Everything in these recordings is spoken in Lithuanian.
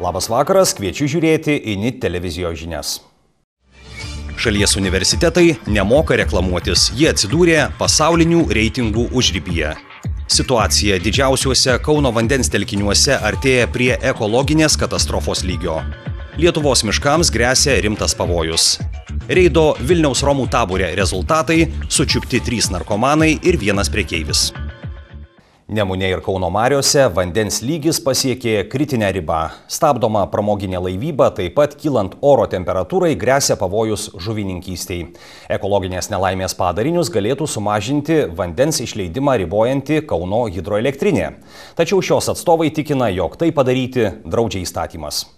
Labas vakaras, kviečiu žiūrėti INIT televizijos žinias. Šalies universitetai nemoka reklamuotis, jie atsidūrė pasaulinių reitingų užribyje. Situacija didžiausiuose Kauno vandens telkiniuose artėja prie ekologinės katastrofos lygio. Lietuvos miškams gresia rimtas pavojus. Reido Vilniaus Romų tabore rezultatai – sučiupti 3 narkomanai ir 1 prekeivis. Nemune ir Kauno mariose vandens lygis pasiekė kritinę ribą. Stabdoma pramoginė laivyba, taip pat kylant oro temperatūrai gresia pavojus žuvininkystei. Ekologinės nelaimės padarinius galėtų sumažinti vandens išleidimą ribojanti Kauno hidroelektrinė. Tačiau šios atstovai tikina, jog tai padaryti draudžia įstatymas.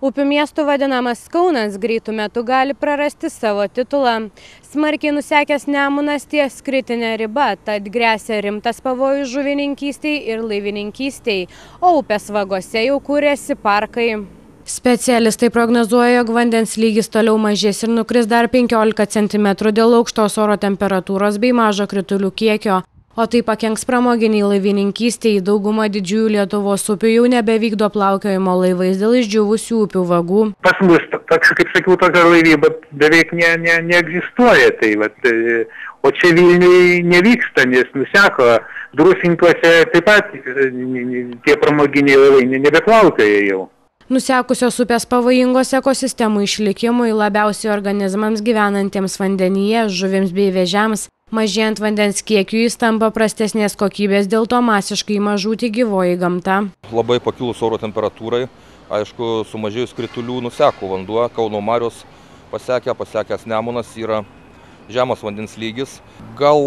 Upių miestų vadinamas Kaunas greitų metų gali prarasti savo titulą. Smarkiai nusekęs Nemunas ties kritinė riba, tad gresia rimtas pavojus žuvininkystei ir laivininkystei, o upės vagose jau kūrėsi parkai. Specialistai prognozuoja, jog vandens lygis toliau mažės ir nukris dar 15 cm dėl aukštos oro temperatūros bei mažo kritulių kiekio. O tai pakenks pramoginiai laivininkystei, dauguma didžiųjų Lietuvos upių jau nebevykdo plaukiojimo laivais dėl išdžiūvusių upių vagų. Pas mus, kaip sakiau, tokia laivyba beveik neegzistuoja. O čia Vilniui nevyksta, nes nuseko. Drusinkuose taip pat tie pramoginiai laivai nebeplaukioja jau. Nusekusios upės pavojingos ekosistemų išlikimui, labiausiai organizmams gyvenantiems vandenyje, žuvims bei vėžiams. Mažėjant vandens kiekiui jis tampa prastesnės kokybės, dėl to masiškai ima žūti gyvoji gamta. Labai pakilus oro temperatūrai, aišku, sumažėjus kritulių nuseko vanduo, Kauno marios pasekęs Nemunas yra žemas vandens lygis. Gal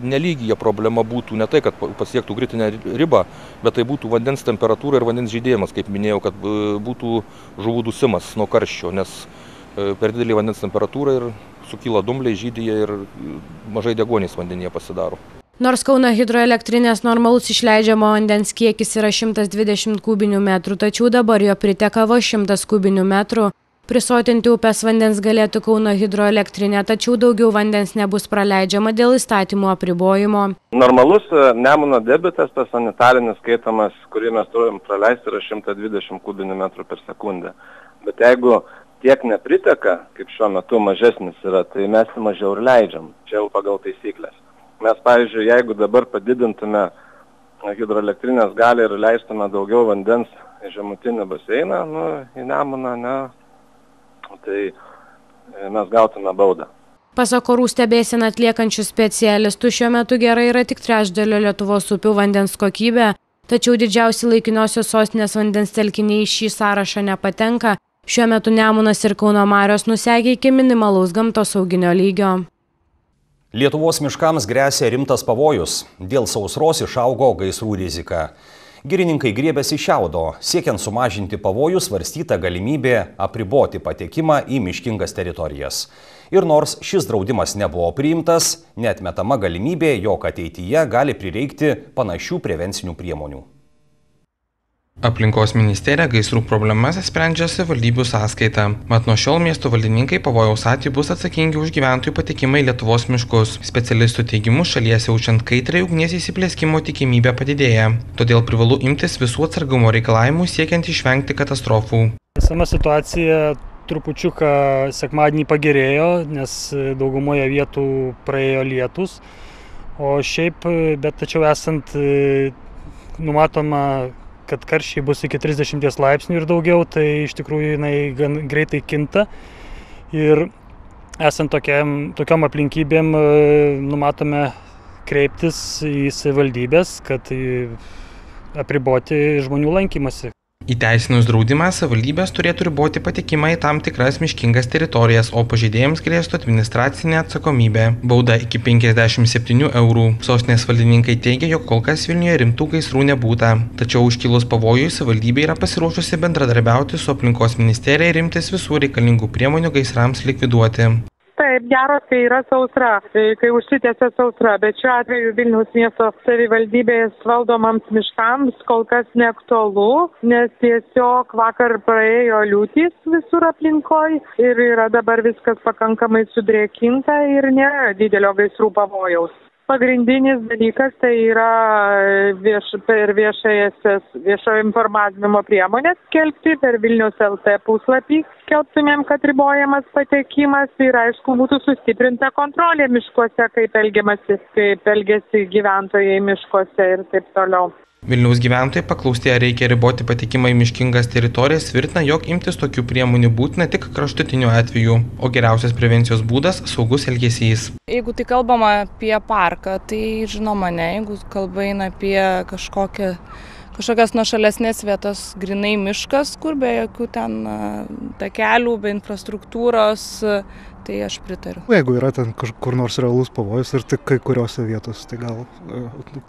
nelygyje problema būtų ne tai, kad pasiektų kritinę ribą, bet tai būtų vandens temperatūra ir vandens žydėjimas, kaip minėjau, kad būtų žuvų dusimas nuo karščio, nes per didelį vandens temperatūrą ir sukyla dumbliai, žydyje ir mažai deguonies vandenyje pasidaro. Nors Kauno hidroelektrinės normalus išleidžiamo vandens kiekis yra 120 kubinių metrų, tačiau dabar jo priteka vos 100 kubinių metrų. Prisotinti upės vandens galėtų Kauno hidroelektrinė, tačiau daugiau vandens nebus praleidžiama dėl įstatymų apribojimo. Normalus Nemuno debitas, tas sanitarinis skaitomas, kurį mes turim praleisti, yra 120 kubinių metrų per sekundę. Bet jeigu tiek nepriteka, kaip šiuo metu mažesnis yra, tai mes mažiau ir leidžiam, čia jau pagal taisyklės. Mes, pavyzdžiui, jeigu dabar padidintume hidroelektrinės galią ir leistume daugiau vandens į žemutinį baseiną, į Nemuną, tai mes gautume baudą. Pasak orų stebėseną atliekančių specialistų, šiuo metu gerai yra tik trečdalio Lietuvos upių vandens kokybė, tačiau didžiausi laikinosios sostinės vandens telkiniai į šį sąrašą nepatenka. Šiuo metu Nemunas ir Kauno marios nusekė iki minimalaus gamtosauginio lygio. Lietuvos miškams gresia rimtas pavojus. Dėl sausros išaugo gaisrų rizika. Girininkai griebiasi šiaudo. Siekiant sumažinti pavojų, svarstyta galimybė apriboti patekimą į miškingas teritorijas. Ir nors šis draudimas nebuvo priimtas, neatmetama galimybė, jog ateityje gali prireikti panašių prevencinių priemonių. Aplinkos ministerija gaisrų problemas sprendžia savivaldybių sąskaita. Mat nuo šiol miesto valdininkai pavojaus atveju bus atsakingi už gyventojų patekimą į Lietuvos miškus. Specialistų teigimu, šalies jaučiant kaitrai ugnies įsiplėskimo tikimybė padidėja. Todėl privalu imtis visų atsargumo reikalavimų siekiant išvengti katastrofų. Esama situacija trupučiuką sekmadienį pagerėjo, nes daugumoje vietų praėjo lietus. O šiaip, tačiau esant numatoma, kad karščiai bus iki 30 laipsnių ir daugiau, tai iš tikrųjų jinai gan greitai kinta. Ir esant tokiom aplinkybėm numatome kreiptis į savivaldybės, kad apriboti žmonių lankymasi. Įteisinus draudimą, savivaldybės turėtų riboti patekimą į tam tikras miškingas teritorijas, o pažeidėjams grėstų administracinė atsakomybė. Bauda iki 57 eurų. Sostinės valdininkai teigia, jog kol kas Vilniuje rimtų gaisrų nebūta. Tačiau užkilus pavojui, savivaldybė yra pasiruošusi bendradarbiauti su aplinkos ministerija ir imtis visų reikalingų priemonių gaisrams likviduoti. Taip, gero, kai yra sausra, kai užsitęsia sausra, bet šiuo atveju Vilniaus miesto savivaldybės valdomams miškams kol kas neaktualu, nes tiesiog vakar praėjo liūtys visur aplinkoj ir yra dabar viskas pakankamai sudrėkinta ir nėra didelio gaisrų pavojaus. Pagrindinis dalykas tai yra per viešojo informavimo priemonės skelbti, per Vilniaus LT puslapį skelbtumėm, kad ribojamas patekimas ir aišku būtų sustiprinta kontrolė miškuose, kaip elgiasi gyventojai miškuose ir taip toliau. Vilniaus gyventojai paklausti, ar reikia riboti patekimą į miškingas teritorijas, tvirtina, jog imtis tokių priemonių būtina tik kraštutiniu atveju, o geriausias prevencijos būdas – saugus elgesys. Jeigu tai kalbama apie parką, tai žinoma ne, jeigu kalba eina apie kažkokias nuošalesnės vietas, grinai miškas, kur be jokių ten takelių, be infrastruktūros, tai aš pritariu. Jeigu yra ten kur nors realus pavojus ir tik kai kuriuose vietose, tai gal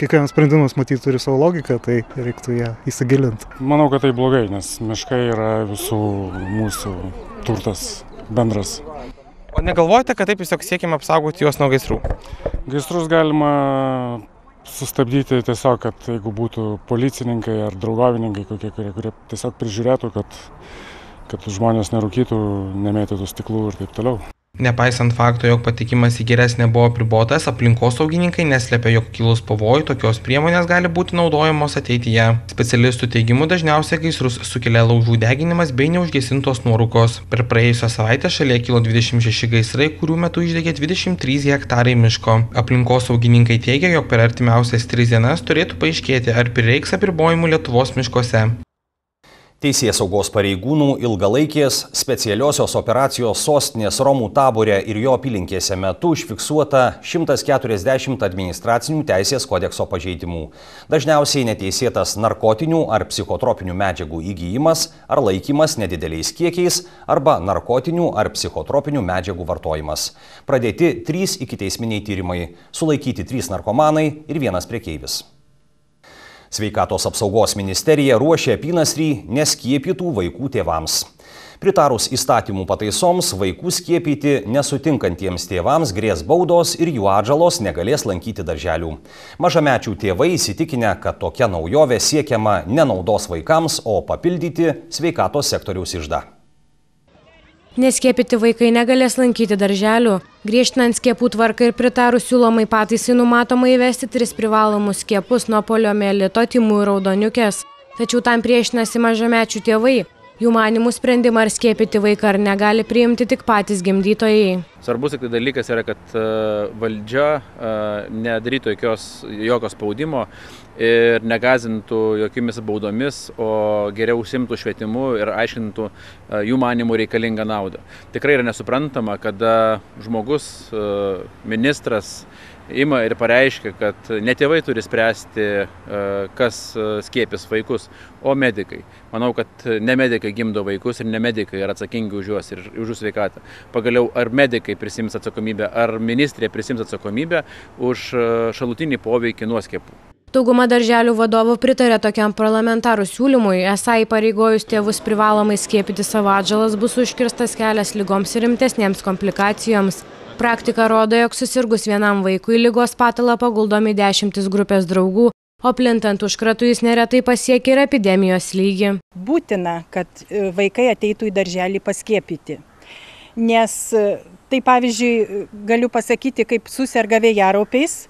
kiekvienas sprendimas matyt turi savo logiką, tai reiktų ją įsigilinti. Manau, kad tai blogai, nes miškai yra visų mūsų turtas bendras. O negalvojate, kad taip tiesiog siekime apsaugoti juos nuo gaisrų? Gaisrus galima sustabdyti tiesiog, kad jeigu būtų policininkai ar draugavininkai kokie, kurie tiesiog prižiūrėtų, kad žmonės nerūkytų, nemėtytų stiklų ir taip toliau. Nepaisant fakto, jog patikimas į geresnę buvo apribotas, aplinkosaugininkai neslepia, jog kilus pavojui tokios priemonės gali būti naudojamos ateityje. Specialistų teigimu dažniausiai gaisrus sukelia laužų deginimas bei neužgesintos nuorūkos. Per praėjusią savaitę šalyje kilo 26 gaisrai, kurių metu išdegė 23 hektarai miško. Aplinkosaugininkai teigia, jog per artimiausias 3 dienas turėtų paaiškėti, ar prireiks apribojimų Lietuvos miškuose. Teisėsaugos pareigūnų ilgalaikės specialiosios operacijos sostinės Romų Tabore ir jo apylinkėse metu užfiksuota 140 administracinių teisės kodekso pažeidimų. Dažniausiai neteisėtas narkotinių ar psichotropinių medžiagų įgijimas ar laikymas nedideliais kiekiais arba narkotinių ar psichotropinių medžiagų vartojimas. Pradėti 3 ikiteisminiai tyrimai, sulaikyti 3 narkomanai ir 1 prekeivis. Sveikatos apsaugos ministerija ruošia apynasrį neskiepytų vaikų tėvams. Pritarus įstatymų pataisoms, vaikų skiepyti nesutinkantiems tėvams grės baudos ir jų atžalos negalės lankyti darželių. Mažamečių tėvai įsitikinę, kad tokia naujovė siekiama ne naudos vaikams, o papildyti sveikatos sektoriaus iždą. Neskiepyti vaikai negalės lankyti darželių. Griežtinant skiepų tvarką ir pritarus siūlomai pataisai numatoma įvesti 3 privalomus skiepus nuo poliomielito, tymų ir raudoniukės. Tačiau tam priešinasi mažamečių tėvai. Jų manimų sprendimą ar skiepyti vaiką ar negali priimti tik patys gimdytojai. Svarbus tik dalykas yra, kad valdžia nedarytų jokio spaudimo ir negazintų jokiomis baudomis, o geriau užsiimtų švietimu ir aiškintų jų manimų reikalingą naudą. Tikrai yra nesuprantama, kada žmogus, ministras, ima ir pareiškia, kad ne tėvai turi spręsti, kas skiepys vaikus, o medikai. Manau, kad ne medikai gimdo vaikus ir ne medikai yra atsakingi už juos ir už jų sveikatą. Pagaliau, ar medikai prisims atsakomybę, ar ministrė prisims atsakomybę už šalutinį poveikį nuo skiepų. Dauguma darželių vadovų pritarė tokiam parlamentarų siūlymui, esą įpareigojus tėvus privalomai skiepyti savo atžalas bus užkirstas kelias ligoms ir rimtesnėms komplikacijoms. Praktika rodo, jog susirgus vienam vaikui ligos patalą paguldomi 10 grupės draugų, o plintant užkratui jis neretai pasiekia ir epidemijos lygį. Būtina, kad vaikai ateitų į darželį paskiepyti, nes tai pavyzdžiui galiu pasakyti, kaip suserga vėjaraupiais,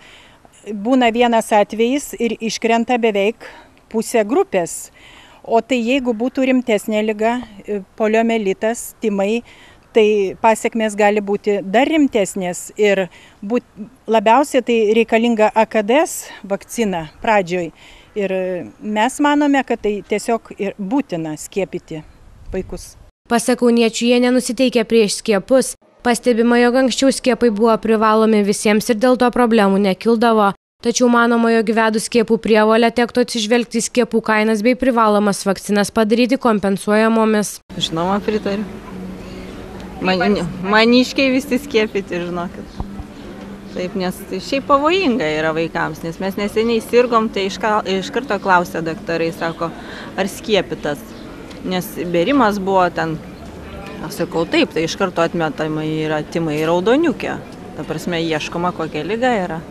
būna vienas atvejis ir iškrenta beveik pusė grupės, o tai jeigu būtų rimtesnė liga, poliomielitas, tymai, tai pasiekmės gali būti dar rimtesnės ir labiausiai tai reikalinga AKDS vakcina pradžioj. Ir mes manome, kad tai tiesiog ir būtina skiepyti vaikus. Pasak kauniečių, jie nenusiteikia prieš skiepus. Pastebima, jog anksčiau skiepai buvo privalomi visiems ir dėl to problemų nekildavo. Tačiau manoma, jog įvedus skiepų prievolę tektų atsižvelgti į skiepų kainas bei privalomas vakcinas padaryti kompensuojamomis. Žinoma, pritariu. Maniškiai visi skiepyti, žinokit. Taip, nes tai šiaip pavojinga yra vaikams, nes mes neseniai sirgom, tai iš karto klausė daktarai, sako, ar skiepytas. Nes bėrimas buvo ten, aš sakau, taip, tai iš karto atmetama yra tymai ir raudoniukė. Ta prasme, ieškoma, kokia liga yra.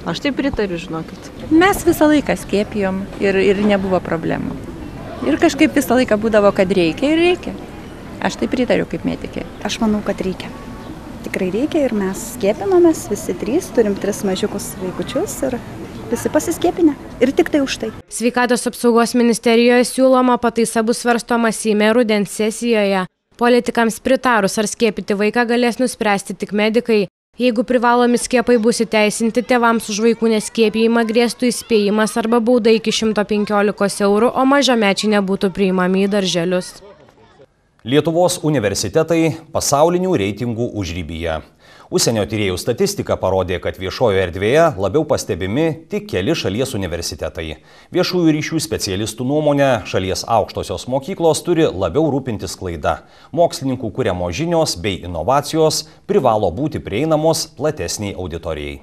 Aš taip pritariu, žinokit. Mes visą laiką skiepijom ir nebuvo problemų. Ir kažkaip visą laiką būdavo, kad reikia ir reikia. Aš tai pritariu kaip medikė. Aš manau, kad reikia. tikrai reikia ir mes skiepinamės, visi 3, turim 3 mažiukus vaikučius ir visi pasiskiepinę. Ir tik tai už tai. Sveikatos apsaugos ministerijoje siūloma pataisa bus svarstoma Seime rudens sesijoje. Politikams pritarus ar skiepyti vaiką galės nuspręsti tik medikai. Jeigu privalomi skiepai bus įteisinti, tėvams už vaikų neskiepijimą grėstų įspėjimas arba bauda iki 115 eurų, o mažamečiai nebūtų priimami į darželius. Lietuvos universitetai pasaulinių reitingų užribyje. Užsienio tyrėjų statistika parodė, kad viešojoje erdvėje labiau pastebimi tik keli šalies universitetai. Viešųjų ryšių specialistų nuomonė, šalies aukštosios mokyklos turi labiau rūpintis sklaida. Mokslininkų kuriamos žinios bei inovacijos privalo būti prieinamos platesniai auditorijai.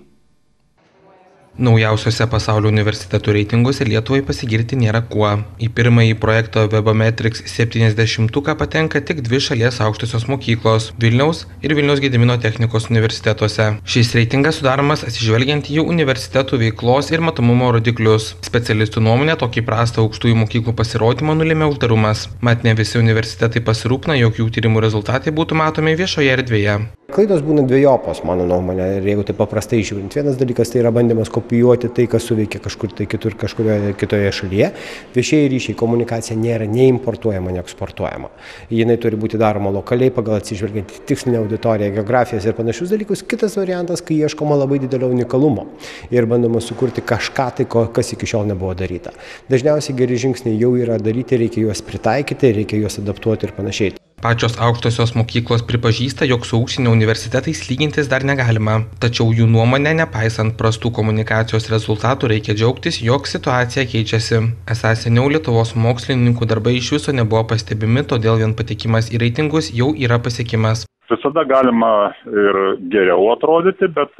Naujausiuose pasaulio universitetų reitinguose Lietuvai pasigirti nėra kuo. Į pirmąjį projekto Webometrics 70-uką patenka tik 2 šalies aukštosios mokyklos – Vilniaus ir Vilniaus Gedimino technikos universitetuose. Šis reitingas sudaromas atsižvelgiant į jų universitetų veiklos ir matomumo rodiklius. Specialistų nuomonė tokį prastą aukštųjų mokyklų pasirodymą nulėmė uždarumas. Mat ne visi universitetai pasirūpina, jog jų tyrimų rezultatai būtų matomi viešoje erdvėje. Klaidos būna dvejopos, mano nuomonė, ir jeigu tai paprastai žiūrint. Vienas dalykas tai yra bandymas kopijuoti tai, kas suveikia kažkur tai kitur, kažkurioje kitoje šalyje. Viešieji ryšiai, komunikacija nėra nei importuojama, nei eksportuojama. Jinai turi būti daroma lokaliai, pagal atsižvelgiant į tikslinę auditoriją, geografijas ir panašius dalykus. Kitas variantas, kai ieškoma labai didelio unikalumo ir bandoma sukurti kažką tai, kas iki šiol nebuvo daryta. Dažniausiai geri žingsniai jau yra daryti, reikia juos pritaikyti, reikia juos adaptuoti ir panašiai. Pačios aukštosios mokyklos pripažįsta, jog su užsienio universitetais lygintis dar negalima. Tačiau jų nuomonė, nepaisant prastų komunikacijos rezultatų, reikia džiaugtis, jog situacija keičiasi. Esą seniau Lietuvos mokslininkų darbai iš viso nebuvo pastebimi, todėl vien patekimas į reitingus jau yra pasiekimas. Visada galima ir geriau atrodyti, bet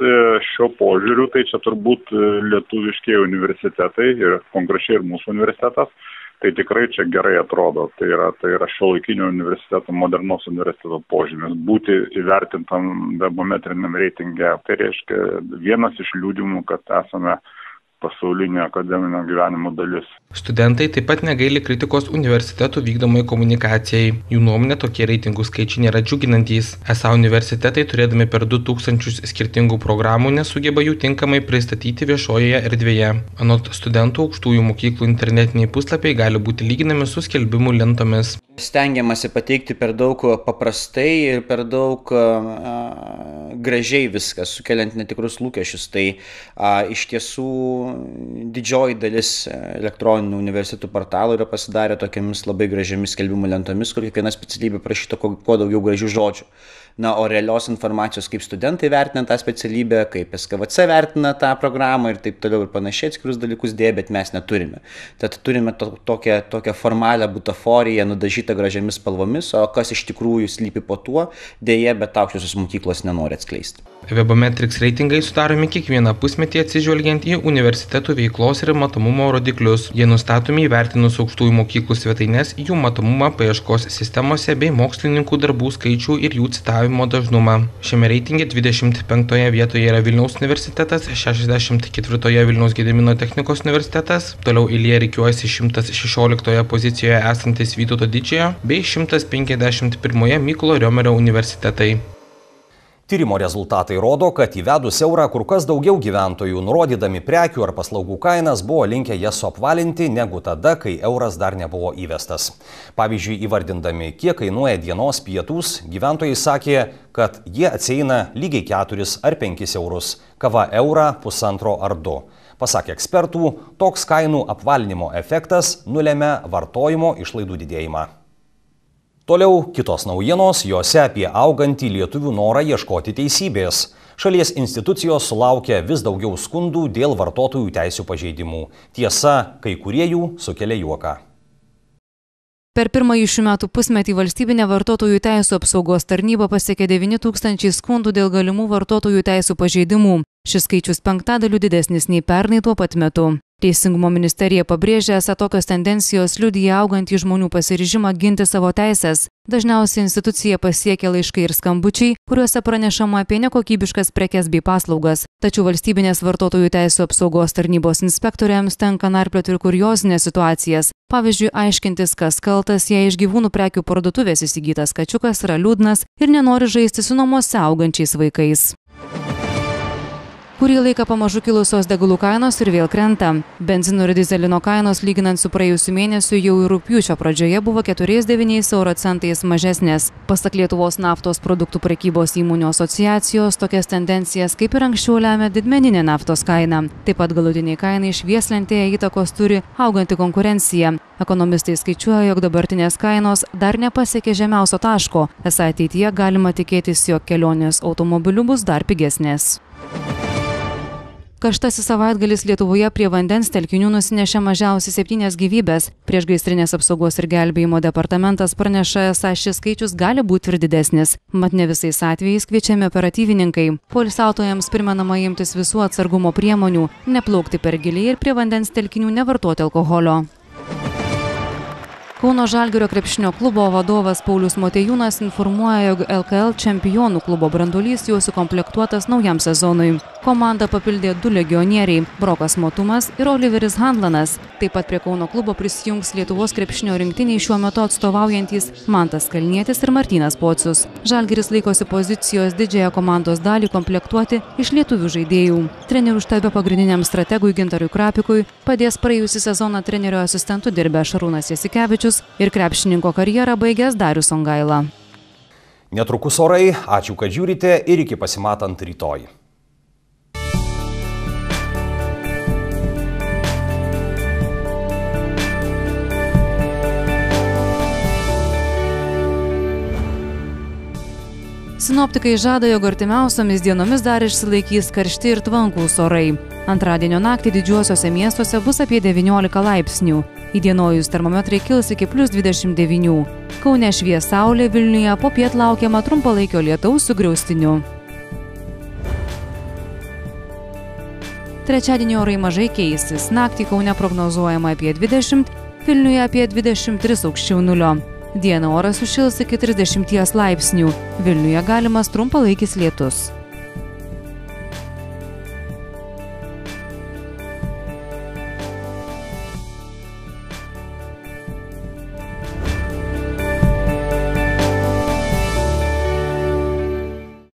šiuo požiūriu tai čia turbūt lietuviški universitetai ir konkrečiai ir mūsų universitetas. Tai tikrai čia gerai atrodo. Tai yra šiuolaikinio universiteto, modernaus universiteto požymis. Būti įvertintam webometriniam reitinge. Tai reiškia vienas iš liudymų, kad esame pasaulinio akademinio gyvenimo dalis. Studentai taip pat negaili kritikos universitetų vykdomai komunikacijai. Jų nuomonė tokie reitingų skaičiai nėra džiuginantys. Esą universitetai, turėdami per 2000 skirtingų programų, nesugeba jų tinkamai pristatyti viešojoje erdvėje. Anot studentų, aukštųjų mokyklų internetiniai puslapiai gali būti lyginami su skelbimų lentomis. Stengiamasi pateikti per daug paprastai ir per daug gražiai viskas, sukeliant netikrus lūkesčius. Tai iš tiesų didžioji dalis elektroninių universitetų portalų yra pasidarę tokiamis labai gražiamis skelbimų lentomis, kur kiekviena specialybė prašyta kuo daugiau gražių žodžių. Na, o realios informacijos, kaip studentai vertina tą specialybę, kaip SKVC vertina tą programą ir taip toliau ir panašiai atskirus dalykus dėja, bet mes neturime. Tad turime tokią formalią butaforiją nudažytą gražiamis spalvomis, o kas iš tikrųjų slypi po tuo, dėja, bet aukštosios mokyklos nenori atskleisti. Webometrics reitingai sudaromi kiekvieną pusmetį atsižvelgiant į universitetų veiklos ir matomumo rodiklius. Jie nustatomi įvertinus aukštųjų mokyklų svetaines, jų matomumą paieškos sistemose bei mokslininkų darbų skaičių ir jų citavimo dažnumą. Šiame reitinge 25 vietoje yra Vilniaus universitetas, 64 Vilniaus Gedimino technikos universitetas, toliau eilėje rikiuojasi 116 pozicijoje esantis Vytauto Didžiojo bei 151 Mykolo Riomerio universitetai. Tyrimo rezultatai rodo, kad įvedus eurą kur kas daugiau gyventojų, nurodydami prekių ar paslaugų kainas, buvo linkę jas suapvalinti negu tada, kai euras dar nebuvo įvestas. Pavyzdžiui, įvardindami, kiek kainuoja dienos pietūs, gyventojai sakė, kad jie atsieina lygiai 4 ar 5 eurus, kava eurą, 1,5 ar 2. Pasak ekspertų, toks kainų apvalinimo efektas nulemia vartojimo išlaidų didėjimą. Toliau kitos naujienos, jose apie augantį lietuvių norą ieškoti teisybės. Šalies institucijos sulaukia vis daugiau skundų dėl vartotojų teisių pažeidimų. Tiesa, kai kurie jų sukelia juoką. Per pirmąjį šių metų pusmetį valstybinė vartotojų teisių apsaugos tarnyba pasiekė 9000 skundų dėl galimų vartotojų teisių pažeidimų. Šis skaičius 5 didesnis nei pernai tuo pat metu. Teisingumo ministerija pabrėžė, esą tokios tendencijos liudija augantį žmonių pasiryžimą ginti savo teisės. Dažniausiai institucija pasiekia laiškai ir skambučiai, kuriuose pranešama apie nekokybiškas prekes bei paslaugas. Tačiau valstybinės vartotojų teisų apsaugos tarnybos inspektoriams tenka narplioti ir kuriozinės situacijas. Pavyzdžiui, aiškintis, kas kaltas, jei iš gyvūnų prekių parduotuvės įsigytas kačiukas yra liūdnas ir nenori žaisti su namuose augančiais vaikais. Kurį laiką pamažu kilusios degalų kainos ir vėl krenta. Benzino ir dizelino kainos lyginant su praėjusiu mėnesiu jau ir rugpjūčio pradžioje buvo 4,9 euro centais mažesnės. Pasak Lietuvos naftos produktų prekybos įmonių asociacijos, tokias tendencijas kaip ir anksčiau lemia didmeninė naftos kaina. Taip pat galutiniai kainai švieslentėje įtakos turi auganti konkurencija. Ekonomistai skaičiuoja, jog dabartinės kainos dar nepasiekė žemiausio taško. Esą ateityje galima tikėtis, jog kelionės automobiliu bus dar pigesnės. Karštasis savaitgalis Lietuvoje prie vandens telkinių nusinešė mažiausiai 7 gyvybės. Priešgaisrinės apsaugos ir gelbėjimo departamentas praneša, esą šis skaičius gali būti ir didesnis. Mat ne visais atvejais kviečiami operatyvininkai. Poilsiautojams primenama imtis visų atsargumo priemonių, neplaukti per giliai ir prie vandens telkinių nevartoti alkoholio. Kauno Žalgirio krepšinio klubo vadovas Paulius Motiejūnas informuoja, jog LKL čempionų klubo branduolys jau sukomplektuotas naujam sezonui. Komandą papildė 2 legionieriai – Brokas Motumas ir Oliveris Handlanas. Taip pat prie Kauno klubo prisijungs Lietuvos krepšinio rinktiniai šiuo metu atstovaujantys Mantas Kalnietis ir Martynas Pocius. Žalgiris laikosi pozicijos didžiąją komandos dalį komplektuoti iš lietuvių žaidėjų. Trenerių štabe pagrindiniam strategui Gintarui Krapikui padės praėjusį sezoną trenerio asistentu dirbę Šarūnas Jasikevičius ir krepšininko karjerą baigęs Darius Songaila. Netrukus orai, ačiū, kad žiūrite ir iki pasimatant rytoj. Sinoptikai žada, jog artimiausiomis dienomis dar išsilaikys karšti ir tvankūs orai. Antradienio naktį didžiuosiuose miestuose bus apie 19 laipsnių. Įdienojus termometrai kils iki +29. Kaune švies saulė, Vilniuje popiet laukiama trumpalaikio lietaus su griaustiniu. Trečiadienį orai mažai keisis. Naktį Kaune prognozuojama apie 20, Vilniuje apie 23 aukščiau nulio. Dieną oras sušils iki 30 laipsnių. Vilniuje galimas trumpalaikis lietus.